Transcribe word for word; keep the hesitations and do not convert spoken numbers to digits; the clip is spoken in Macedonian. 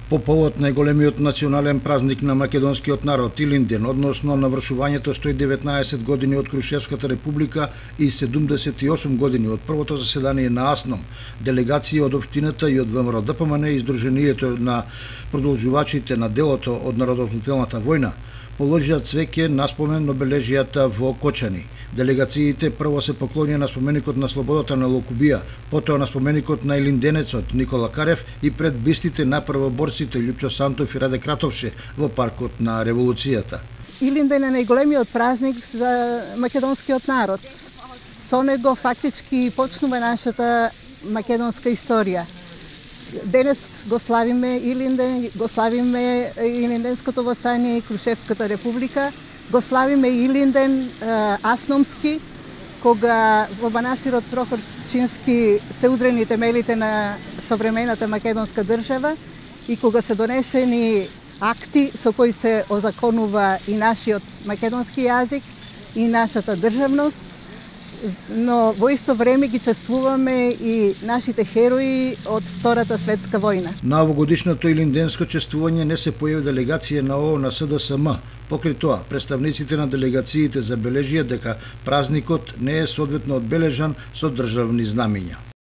По повод најголемиот национален празник на македонскиот народ Илинден, односно навршувањето сто и деветнаесет години од Крушевската република и седумдесет и осум години од првото заседание на АСНОМ, делегации од општината и од ВМРО Д П М Н и Издруженијето на продолжувачите на делото од Народовладелната војна положија цвеќе на спомен обележијата во Кочани. Делегациите прво се поклонија на споменикот на слободата на Локубија, потоа на споменикот на илинденецот Никола Карев и пред бистите на првоборците Љупчо Сантов и Раде Кратовше во паркот на Револуцијата. Илинден е најголемиот празник за македонскиот народ. Со него фактички почнува нашата македонска историја. Денес го славиме Илинден, го славиме Илинденското востание и Крушевската република, го славиме Илинден асномски, кога во манастирот Прохорчински се удрени темелите на современата македонска држава и кога се донесени акти со кои се озаконува и нашиот македонски јазик и нашата државност, но во исто време ги чествуваме и нашите херои од Втората светска војна. На овогодишното илинденско чествување не се појави делегација на О О Н С Д С М. Покрај тоа, представниците на делегациите забележија дека празникот не е соодветно одбележан со државни знамиња.